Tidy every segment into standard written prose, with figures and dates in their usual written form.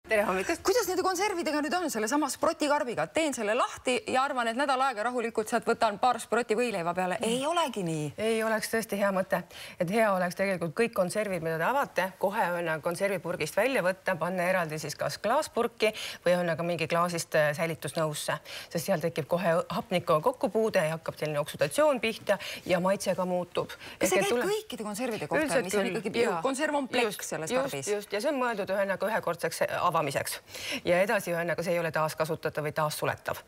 Tere hommikust! Kuidas nende konservidega nüüd on selle sama sprotikarbiga? Teen selle lahti ja arvan, et nädal aega rahulikult sealt võtan paar sproti võileiva peale. Ei olegi nii. Ei oleks tõesti hea mõte. Et hea oleks tegelikult kõik konservid, mida te avate, kohe on konservipurgist välja võtta, panna eraldi siis kas klaaspurki või on aga mingi klaasist säilitusnõusse. Sest seal tekib kohe hapniku kokkupuude ja hakkab selline oksudatsioon pihta ja maitse ka muutub. Kas see käib kõikide konservide kohta, mis on ikkagi konserv on plekk selles karbis? Just, ja see on mõeldud ühekordseks avamiseks. Ja edasi ühendaga see ei ole taaskasutatav või taassuletav.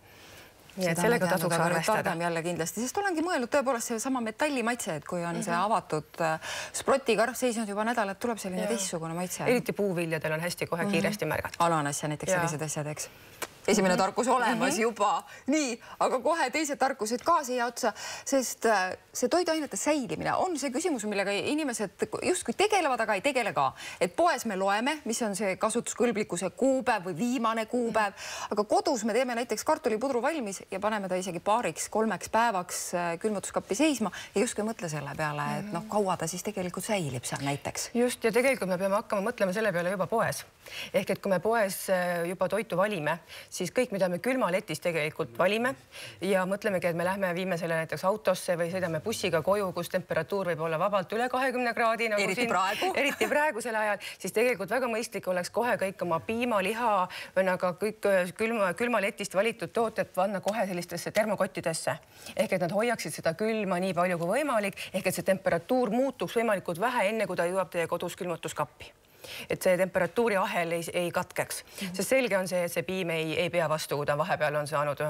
Nii et sellega tasuks arvestada. Jälle kindlasti, sest olengi mõelnud tõepoolest see sama metallimaitse, et kui on see avatud sprotikarv seisnud juba nädalat, tuleb selline teistsugune maitse. Eriti puuviljadel on hästi kohe kiiresti märgata. Ananas ja näiteks sellised asjad, eks. Esimene tarkus olemas juba. Nii, aga kohe teised tarkused ka siia otsa, sest see toiduainete säilimine on see küsimus, millega inimesed justkui tegelevad, aga ei tegele ka. Et poes me loeme, mis on see kasutuskõlblikkuse kuupäev või viimane kuupäev, aga kodus me teeme näiteks kartulipudru valmis ja paneme ta isegi 2–3 päevaks külmutuskappi seisma ja justkui mõtle selle peale, et kaua ta siis tegelikult säilib seal näiteks. Just, ja tegelikult me peame hakkama mõtlema selle peale juba poes. Ehk et kui me poes juba toitu valime, siis kõik, mida me külmaletis tegelikult valime ja mõtlemegi, et me lähme viime selle näiteks autosse või sõidame bussiga koju, kus temperatuur võib olla vabalt üle 20 kraadi. Eriti praegusel ajal, siis tegelikult väga mõistlik oleks kohe kõik oma piima, liha, kõik külmaletist valitud tooted panna kohe sellistesse termokottidesse. Ehk et nad hoiaksid seda külma nii palju kui võimalik, ehk et see temperatuur muutuks võimalikult vähe, enne kui ta jõuab teie kodus külmutuskappi. Et see temperatuuri ahel ei katkeks. Sest selge on see, et see piim ei pea vastu, kui ta vahepeal on saanud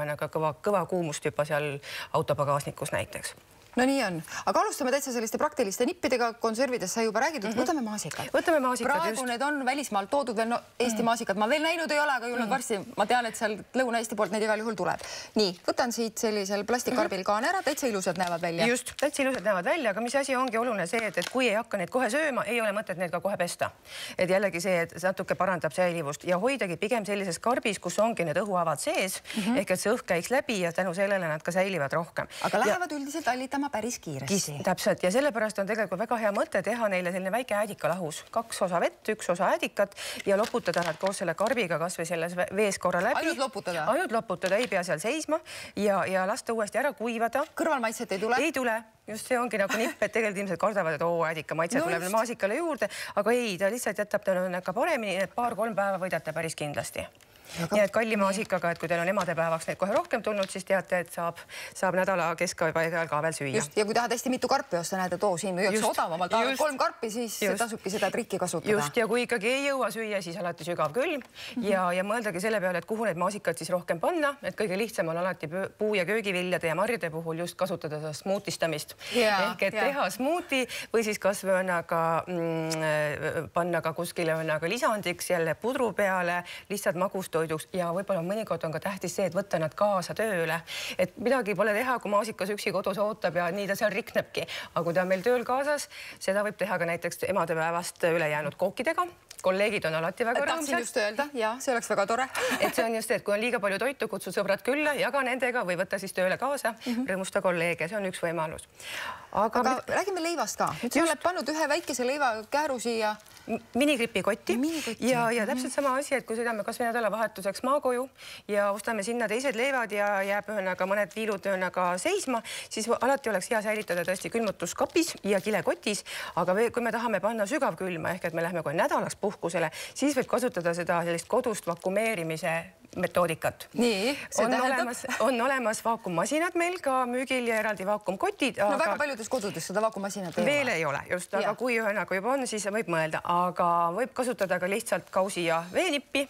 kõva kuumust juba seal autopagaasnikus näiteks. No nii on. Aga alustame täitsa selliste praktiliste nippidega. Konservidest sai juba räägitud. Võtame maasikad. Võtame maasikad, praegu need on välismaalt toodud veel Eesti maasikad. Ma veel näinud ei ole, aga julnud varsti. Ma tean, et seal Lõuna-Eesti poolt neid igal juhul tuleb. Nii, võtan siit sellisel plastikkarbil kaan ära. Täitsa ilusad näevad välja. Just, täitsa ilusad näevad välja, aga mis asi ongi oluline see, et kui ei hakka neid kohe sööma, ei ole mõtet neid ka kohe pesta. Et jällegi see, et natuke parandab säilivust ja hoidagi pigem sellises karbis, kus ongi need õhuavad sees, ehk et see õhk käiks läbi ja tänu sellele nad ka säilivad rohkem. Aga lähevad üldiselt allitama päris kiiresti. Täpselt, ja sellepärast on tegelikult väga hea mõte teha neile selline väike äädikalahus. 2 osa vett, 1 osa äädikat ja loputada nad koos selle karbiga kas või selles vees korra läbi. Ainult loputada? Ainult loputada, ei pea seal seisma ja lasta uuesti ära kuivada. Kõrvalmaitset ei tule? Ei tule. Just see ongi nagu nipp, et tegelikult inimesed kardavad, et äädika maitse tuleb maasikale juurde, aga ei, ta lihtsalt jätab ka paremini, et 2–3 päeva võidate päris kindlasti. Nii et kalli maasikaga, et kui teil on emadepäevaks neid kohe rohkem tulnud, siis teate, et saab nädala keskpaigal ka veel süüa. Just, ja kui tahad hästi mitu karpi osta, näed, et siin müüakse odavamalt 3 karpi, siis tasubki seda trikki kasutada. Just, ja kui ikkagi ei jõua süüa, siis alati sügav külm ja mõeldagi selle peale, et kuhu need maasikad siis rohkem panna, et kõige lihtsam on alati puu- ja köögiviljade ja marjade puhul just kasutada seda smuutistamist. Ehk et teha smuuti või siis kas või panna ka kuskile lisandiks jälle pudru peale, lihtsalt magustoiduks ja võib-olla mõnikord on ka tähtis see, et võtta nad kaasa tööle. Et midagi pole teha, kui maasikas üksi kodus ootab ja nii ta seal riknebki. Aga kui ta on meil tööl kaasas, seda võib teha ka näiteks emadepäevast ülejäänud kookidega. Kolleegid on alati väga rõõmsad. Tahtsin just öelda, ja see oleks väga tore. Et see on just see, et kui on liiga palju toitu, kutsu sõbrad külla, jaga nendega või võtta siis tööle kaasa, rõõmusta kolleege, see on üks võimalus. Aga räägime leivast ka. Nüüd sa oled pannud ühe väikese leivakääru siia. Minigripi kotti ja täpselt sama asi, et kui sõidame kas või nädalavahetuseks maakoju ja ostame sinna teised leivad ja jääb mõned viilud seisma, siis alati oleks hea säilitada tõesti külmutuskapis ja kilekotis, aga kui me tahame panna sügavkülma, ehk et me lähme kohe nädalaks puhkusele, siis võib kasutada seda sellist kodust vakumeerimise metoodikat. Nii, on olemas vaakummasinad meil ka müügil ja eraldi vaakumkotid. No väga paljudes kodudes seda vaakummasinat ei ole. Veel ei ole, just, aga kui juba on, siis võib mõelda, aga võib kasutada ka lihtsalt kausi ja veenippi,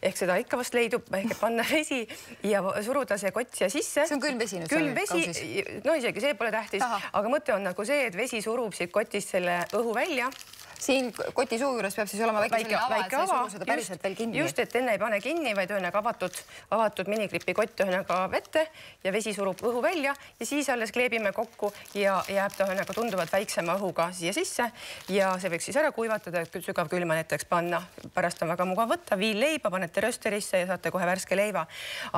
ehk seda ikka vast leidub, ehk panna vesi ja suruda see kott siia sisse. See on külm vesi nüüd? Külm vesi, no isegi see pole tähtis, aga mõte on nagu see, et vesi surub siit kotist selle õhu välja. Siin koti suu juures peab siis olema väike ava, et sa ei suru seda päriselt veel kinni. Just, et enne ei pane kinni, vaid avatud minigripi kott vette ja vesi surub õhu välja ja siis alles kleebime kokku ja jääb ta tunduvalt väiksema õhuga siia sisse ja see võiks siis ära kuivatada, et sügav külma näiteks panna. Pärast on väga mugav võtta, viil leiba, panete rösterisse ja saate kohe värske leiva.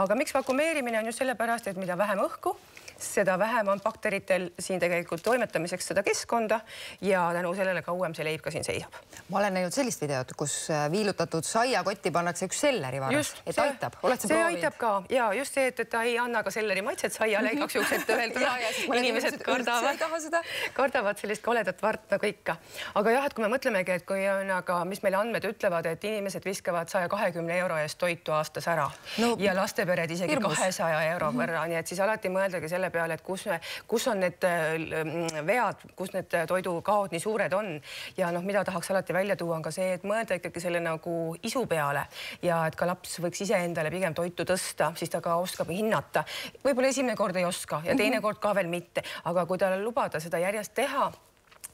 Aga miks vakumeerimine on just sellepärast, et mida vähem õhku, seda vähem on bakteritel siin tegelikult toimetamiseks seda keskkonda ja tänu sellele kauem see leib ka siin seisab. Ma olen näinud sellist videot, kus viilutatud saiakotti pannakse üks sellerivaras, et aitab. Oled sa proovinud? Aitab ka ja just see, et ta ei anna ka selleri maitset saiale igaks juhuks, et inimesed kardavad sellist koledat vart nagu ikka. Aga jah, et kui me mõtlemegi, et kui on, aga mis meil andmed ütlevad, et inimesed viskavad 120 euro eest toitu aastas ära ja lastepered isegi 200 euro võrra, nii et siis alati mõeldagi selle peale, et kus on need vead, kus need toidukaod nii suured on ja noh, mida tahaks alati välja tuua on ka see, et mõelda ikkagi selle nagu isu peale ja et ka laps võiks iseendale pigem toitu tõsta, siis ta ka oskab hinnata. Võib-olla esimene kord ei oska ja teine kord ka veel mitte, aga kui talle lubada seda järjest teha,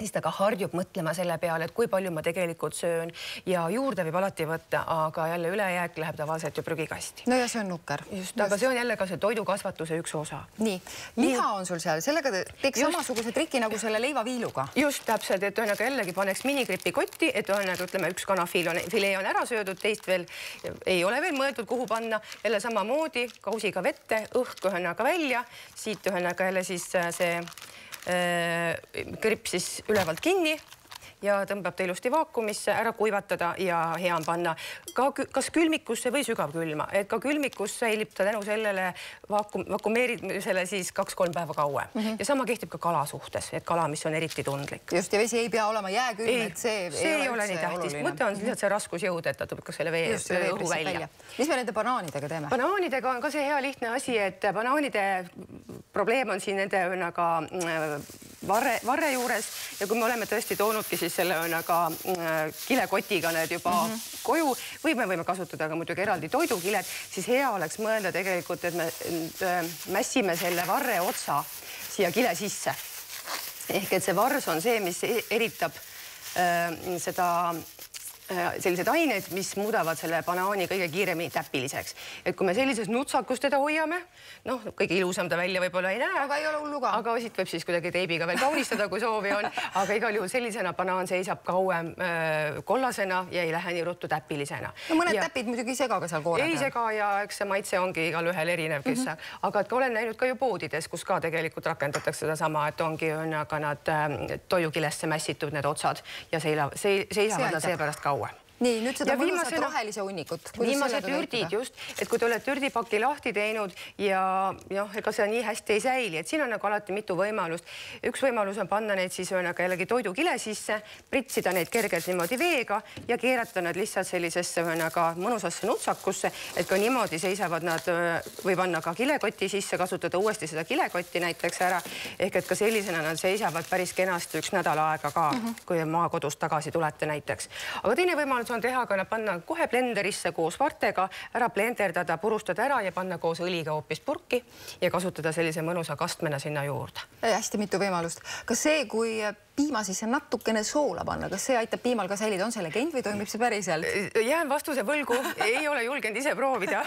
siis ta ka harjub mõtlema selle peale, et kui palju ma tegelikult söön ja juurde võib alati võtta, aga jälle ülejääk läheb tavaliselt ju prügikasti. No ja see on nukker. Just, aga see on jälle ka see toidukasvatuse üks osa. Nii, liha on sul seal, sellega teeks samasuguse triki nagu selle leivaviiluga. Just täpselt, et ühesõnaga jällegi paneks minigripi kotti, et ühesõnaga ütleme, üks kanafilee on ära söödud, teist veel ei ole veel mõeldud, kuhu panna. Jälle samamoodi kausiga vette, õhk ühesõnaga välja, siit ühesõnaga jälle siis see kripp siis ülevalt kinni ja tõmbab ta ilusti vaakumisse, ära kuivatada ja hea on panna ka kas külmikusse või sügavkülma, et ka külmikus säilib ta tänu sellele vakumeerimisele siis 2-3 päeva kauem. Ja sama kehtib ka kala suhtes, et kala, mis on eriti tundlik. Just, ja vesi ei pea olema jääkülm, et see ei ole nii tähtis. Mõte on lihtsalt see raskusjõud, et ta tuleb ka selle vee õhu välja. Mis me nende banaanidega teeme? Banaanidega on ka see hea lihtne asi, et banaanide probleem on siin nende varre juures ja kui me oleme tõesti toonudki siis selle kilekotiga need juba koju või me võime kasutada ka muidugi eraldi toidukilet, siis hea oleks mõelda tegelikult, et me mässime selle varre otsa siia kile sisse. Ehk et see vars on see, mis eritab sellised ained, mis muudavad selle banaani kõige kiiremini täpiliseks. Et kui me sellises nutsakus teda hoiame, noh, kõige ilusam ta välja võib-olla ei näe. Aga ei ole hullu ka. Aga siit võib siis kuidagi teibiga veel kaunistada, kui soovi on. Aga igal juhul sellisena banaan seisab kauem kollasena ja ei lähe nii ruttu täpilisena. No mõned täpid muidugi ei sega ka seal koore. Ei sega ja eks see maitse ongi igal ühel erinev, kes aga olen näinud ka ju poodides, kus ka tegelikult rakendatakse seda sama, et ongi aga nad toidukilesse mässitud need otsad ja seisavad nad seepärast kauem. Nii, nüüd seda mõnusat rohelise hunnikut. Viimased ürdid just, et kui te olete ürdipaki lahti teinud ja ega see nii hästi ei säili, et siin on nagu alati mitu võimalust. Üks võimalus on panna neid siis jällegi toidukile sisse, pritsida neid kergelt niimoodi veega ja keerata nad lihtsalt sellisesse mõnusasse nutsakusse, et ka niimoodi seisavad nad või panna ka kilekoti sisse, kasutada uuesti seda kilekotti näiteks ära, ehk et ka sellisena nad seisavad päris kenasti üks nädal aega ka, kui maakodust tagasi tulete näiteks. Aga teine võimalus on teha, aga panna kohe blenderisse koos vartega, ära blenderdada, purustada ära ja panna koos õliga hoopis purki ja kasutada sellise mõnusa kastmena sinna juurde. Hästi mitu võimalust. Kas see, kui piima sisse natukene soola panna, kas see aitab piimal ka säilida? On see legend või toimib see päriselt? Jään vastuse võlgu, ei ole julgenud ise proovida.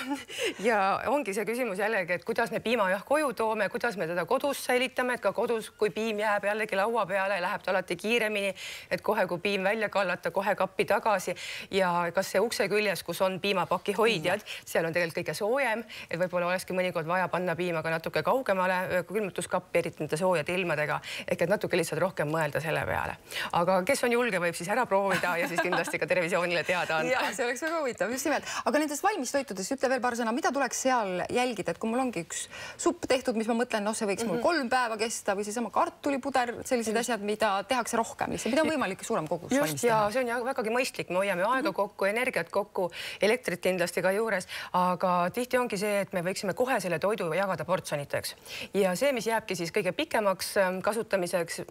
Ja ongi see küsimus jällegi, et kuidas me piima koju toome, kuidas me teda kodus säilitame, et ka kodus, kui piim jääb jällegi laua peale, läheb ta alati kiiremini, et kohe, kui piim välja kallata, kohe kappi tagasi ja kas see ukse küljes, kus on piimapaki hoidjad, seal on tegelikult kõige soojem, et võib-olla olekski mõnikord vaja panna piima ka natuke kaugemale külmutuskappi, eriti nende soojade ilmadega, ehk et natuke lihtsalt rohkem mõelda selle peale. Aga kes on julge, võib siis ära proovida ja siis kindlasti ka televisioonile teada anda. Ja, see oleks väga huvitav, just nimelt. Aga nendest valmistoitudest ütle veel paar sõna, mida tuleks seal jälgida, et kui mul ongi üks supp tehtud, mis ma mõtlen, see võiks mul 3 päeva kesta või seesama kartulipuder, sellised asjad, mida tehakse rohkem, mida on võimalik suurem kogus valmis teha. Ja see on vägagi mõistlik, me hoiame aega kokku, energiat kokku, elektrit kindlasti ka juures, aga tihti ongi see, et me võiksime kohe selle toidu jagada portsjoniteks. Ja see, mis jääbki siis kõige pikemaks kasutamiseks,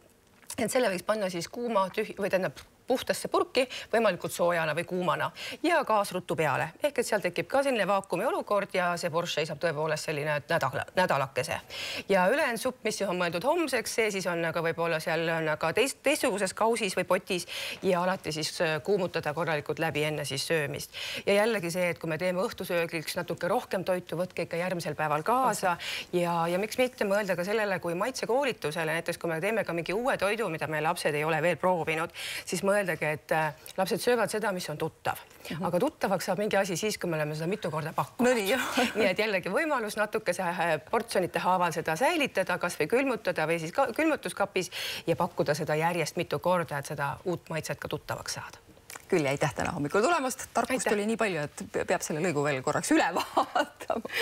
et selle võiks panna siis kuuma või tähendab puhtasse purki, võimalikult soojana või kuumana ja gaasruttu peale. Ehk et seal tekib ka selline vaakumi olukord ja see borš seisab tõepoolest selline nädalakese. Ja ülejäänud supp, mis on mõeldud homseks, see siis on aga võib-olla seal teistsuguses kausis või potis ja alati siis kuumutada korralikult läbi enne siis söömist. Ja jällegi see, et kui me teeme õhtusöögiks natuke rohkem toitu, võtke ikka järgmisel päeval kaasa ja miks mitte mõelda ka sellele kui maitsekoolitusele, näiteks kui me teeme ka mingi uue toidu, mida meie lapsed ei ole veel proovinud, siis mõelda öeldagi, et lapsed söövad seda, mis on tuttav. Aga tuttavaks saab mingi asi siis, kui me oleme seda mitu korda pakkunud. Nii et jällegi võimalus natukese portsjonite haaval seda säilitada, kas või külmutada või siis külmutuskapis ja pakkuda seda järjest mitu korda, et seda uut maitset ka tuttavaks saada. Küll, aitäh täna hommikul tulemast. Tarkust oli nii palju, et peab selle lõigu veel korraks üle vaatama.